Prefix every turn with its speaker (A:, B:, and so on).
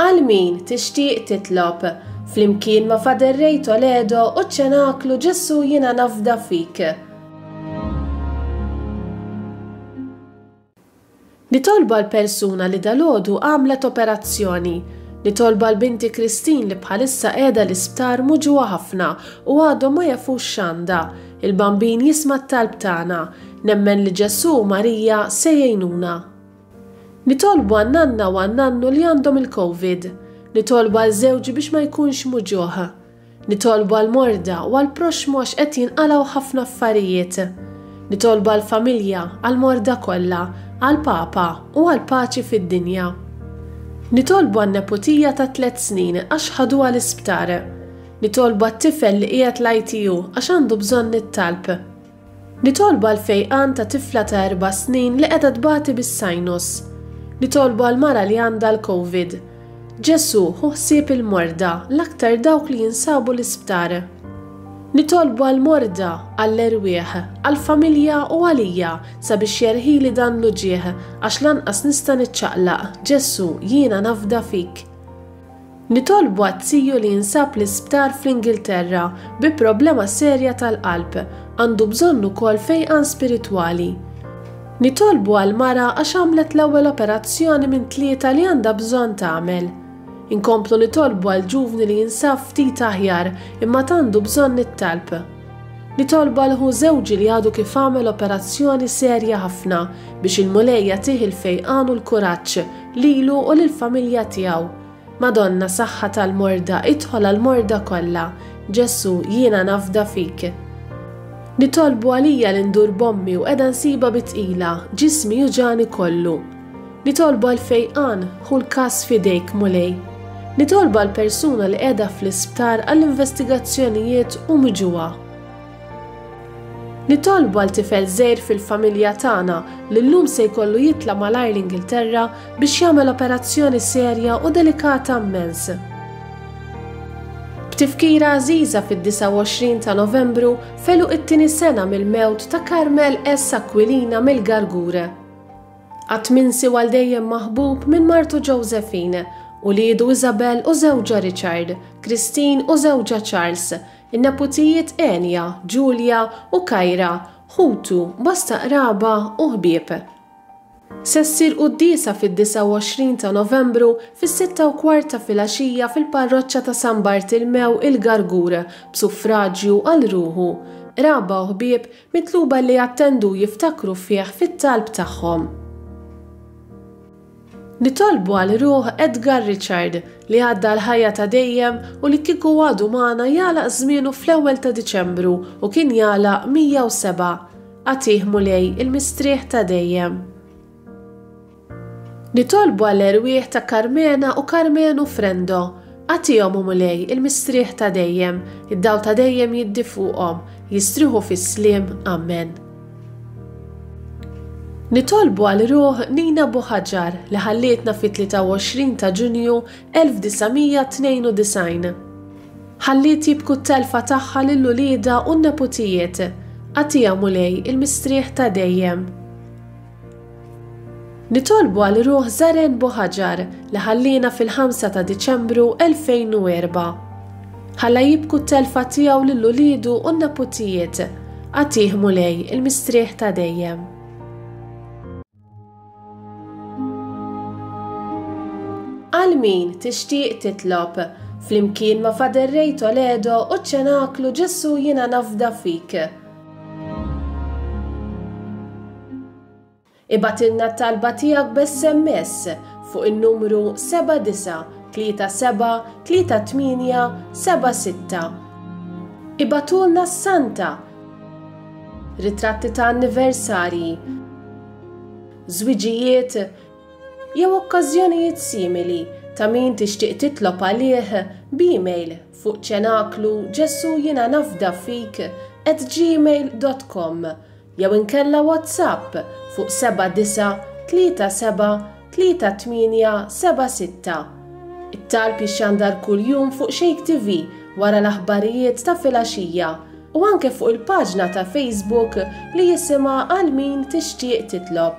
A: Għal min tixtieq titlob, flimkien ma' Father Ray Toledo u ċ-Ċenaklu Ġesù Jiena Nafda Fik. Nitolbu għal persuna li dalgħodu għamlet operazzjoni. Nitolbu għal binti Christine li bħalissa qiegħda l-isptar muġugħa ħafna u għadhom ma jafux x'għandha. Il-Bambin jisma' t-talb tagħna. Nemmen li Ġesù u Marija se jgħinuna. Nitolbu għan-nanna u għan-nannu li għandhom il-Covid. Nitolbu għal żewġi biex ma jkunx muġugħ. Nitolbu għall-morda u għall-proxxmu għax qed jinqalgħu ħafna affarijiet. Nitolbu għall-familja, għall-morda kollha, għall-Papa u għall-paċi fid-dinja. Nitolbu għan-neputija ta' tlett snin għax ħaduha l-isptar. Nitolbu għat-tifel li qiegħed l-ITU għax għandu bżonn it-talb. Nitolbu għall-fejqan ta' tifla ta' erba' snin li qiegħda tbati bis-sinus. Nitolbu għal mara li għandha l-Covid. Ġesù, ħu ħsieb il-morda, l-aktar dawk li jinsabu l-isptar. Nitolbu għall-morda, għall-erwieħ, għall-familja u għalija sabiex jerħili dan l-uġigħ għax lanqas nista' niċċaqlaq, Ġesù, jiena nafda fik. Nitolbu għat-tiju li jinsab l-isptar fl-Ingilterra bi problema serja tal-qalb, għandu bżonn ukoll fejqan spiritwali. Nitolbu għal mara għax għamlet l-ewwel operazzjoni minn tlieta li għandha bżonn tagħmel. Inkomplu nitolbu għal ġuvni li jinsab ftit aħjar imma għad għandu bżonn it-talb. Nitolbu għal ħu żewġi li għadu kif għamel operazzjoni serja ħafna biex il-Mulej jagħtih il-fejqan u l-kuraġġ lilu u lill-familja tiegħu. Madonna saħħa tal-morda idħol għall-morda kollha. Ġesù jiena nafda fik. Nitolbu għalija li ndur b'ommi u qiegħda nsibha bi tqila, ġismi juġagħni kollu. Nitolbu għall-fejqan, ħu l-każ f'idejk Mulej. Nitolbu għal persuna li qiegħda fl-isptar għall-investigazzjonijiet u miġugħa. Nitolbu għal tifel żgħir fil-familja tagħna li llum se jkollu jitla' malajr l-Ingilterra biex jagħmel operazzjoni serja u delikata mmens. B'tifkira għażiża fid-29 ta' Novembru f'għeluq it-tieni sena mill-mewt ta' Carmel S. Aquilina mill-Gargur. Qatt minsi u għal dejjem maħbub minn martu Josephine, uliedu Isabel u żewġha Richard, Christine u żewġha Charles, in-neputijiet Enya, Julia u Kyra, ħutu, bosta qraba u ħbieb. Se ssir quddiesa fid-29 ta' Novembru fis-sitta u kwart ta' filgħaxija fil-Parroċċa ta' San Bartilmew il-Gargur b'suffraġju għal ruħu. Qraba u ħbieb Mitluba li jattendu u jiftakru fih fit-talb tagħhom. Nitolbu għal ruħ Edgar Richard li għadda għall-ħajja ta' dejjem u li kieku għadu magħna jagħlaq żmienu fl-ewwel ta' Diċembru u kien jagħlaq 107. Agħtih Mulej il-mistrieħ ta' dejjem. Nitolbu għall-erwieħ ta' Karmena u Karmenu Frendo. Agħtihom, o Mulej, il-mistrieħ ta' dejjem, id-dawl ta' dejjem jiddi fuqhom, jistrieħu fis-sliem. Ammen. Nitolbu għal ruħ Nina Buħaġar li ħallietna fit-23 ta' Ġunju 1992. Ħalliet jibku t-telfa tagħha lil uliedha u n-neputijiet. Agħtiha, Mulej, il-mistrieħ ta' dejjem. Nitolbu għal ruħ Zaren Buhaġar li ħalliena fil-ħamsa ta' Diċembru 2004. Ħalla jibku t-telfa tiegħu lil uliedu u n-neputijiet. Agħtih Mulej il-mistrieħ ta' dejjem. Għal min tixtieq titlob, flimkien ma' Father Ray Toledo u ċ-Ċenaklu Ġesù Jiena Nafda Fik. Ibgħatilna t-talba tiegħek b'SMS fuq in-numru 7937 38 76. Ibagħtulna s-santa, ritratti ta' anniversarji, żwiġijiet jew okkażjonijiet simili ta' min tixtieq titlob għalih b'email fuq ċenaklu Ġesù jiena nafda fik at gmail dot com jew inkella WhatsApp fuq 7937 3876. It-talb jixxandar kuljum fuq Shake TV wara l-aħbarijiet ta' filgħaxija u anke fuq il-paġna ta' Facebook li jisimha Għal Min Tixtieq Titlob.